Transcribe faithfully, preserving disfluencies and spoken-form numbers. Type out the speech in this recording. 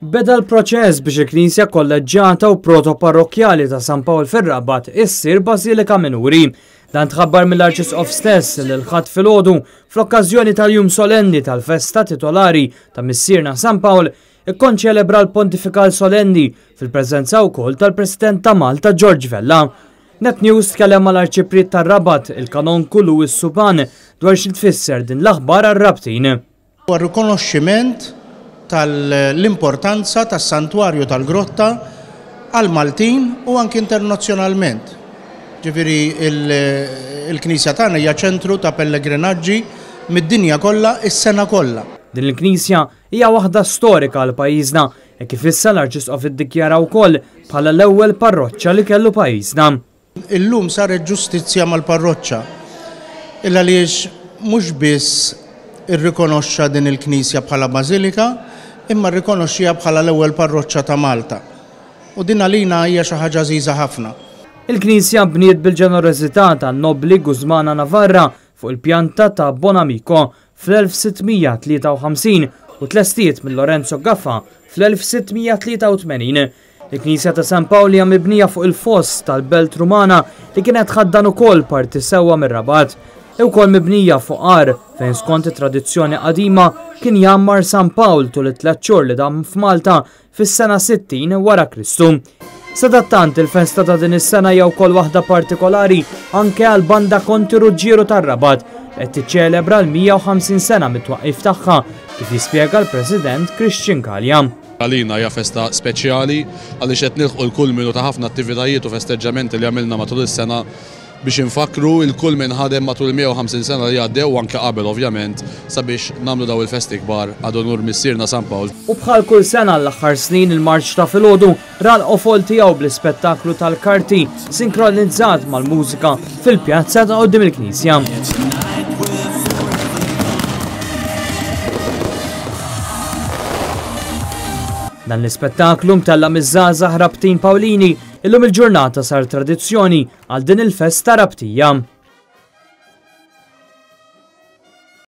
Beda l-proċess biex il-Knisja Kolleġġjata u Protoparrokkjali ta' San Pawl fir-Rabat issir Bażilika Minuri. Dan tħabbar mill-Arċisqof stess li l-Ħadd filgħodu fl-okkażjoni tal-Jum Solenni tal-Festa Titolari ta' Missierna San Pawl ikkonċelebra l-Pontifikal Solenni fil-preżenza wkoll tal-President ta' Malta George Vella. Net News tkellem mal-Arċipriet tar-Rabat, il-Kanonku Louis Suban, dwar xi tfisser din l-aħbar għar-Rabtin. Huwa rikonoxximent tal-importanza tas-Santwarju tal-Grotta għal-Maltin u anki internazzjonalment. Ġifieri il-Knisja tagħna hija ċentru ta' pellegrinaġġi mid-dinja kollha is-sena kollha. Din il-Knisja hija waħda storika għal pajjiżna e kif issa l-Arċisqof iddikjara wkoll bħala l-ewwel parroċċa li kellu pajjiżna. Illum saret ġustizzja mal-parroċċa. Illa għaliex mhux biss irrikonoxxa din il-Knisja bħala bażilika, imma rrikonoxxiha bħala l-ewwel parroċċa ta' Malta. U din għalina hija xi ħaġa għażiża ħafna. Il-Knisja bniet bil-ġenerożità tan-nobbli Guzmana Navarra fuq il-pjanta ta' Bonamico fl-elf sitt mija tlieta u ħamsin u tlestiet minn Lorenzo Gaffa fl-elf sitt mija tlieta u tmenin. Il-Knisja ta' San Pawl hija mibnija fuq il-foss tal-Belt Rumana li kienet ħaddan ukoll parti sewwa mir-Rabat. E wkoll mibnija fuq għar fejn skont it-tradizzjoni qadima kien jgħammar San Pawl tul it-tliet xhur li dam f'Malta fis-sena sittin wara Kristu. Sadattant il-festa ta' din is-sena hija wkoll waħda partikolari anke għal banda Konti Ruġġieru tar-Rabat qed tiċċelebra l-mija u ħamsin sena mit-twaqqif tagħha kif jispjega l-President Christian Calha. Għalina hija festa speċjali għaliex qed nilħqu l-kulminu ta' ħafna attivitajiet u festeġġamenti li għamilna matul is-sena biex infakru il-kull min ħadem matul mija u ħamsin sena li għaddew u anke qabel ovvjament sabiex nagħmlu daw il-festi kbar għad onur missierna San Pawl. U bħal kull sena l-aħħar snin il-marċ ta' filgħodu ra l-qofol tiegħu bl-ispettaklu tal-karti sinkronizzat mal-mużika fil-pjazza ta' quddiem il-Knisja. Dan l-ispettaklu mtella' miż-żgħażagħ Rabtin Pawlini illum il-ġurnata sar tradizzjoni għal din il-festa Rabtija.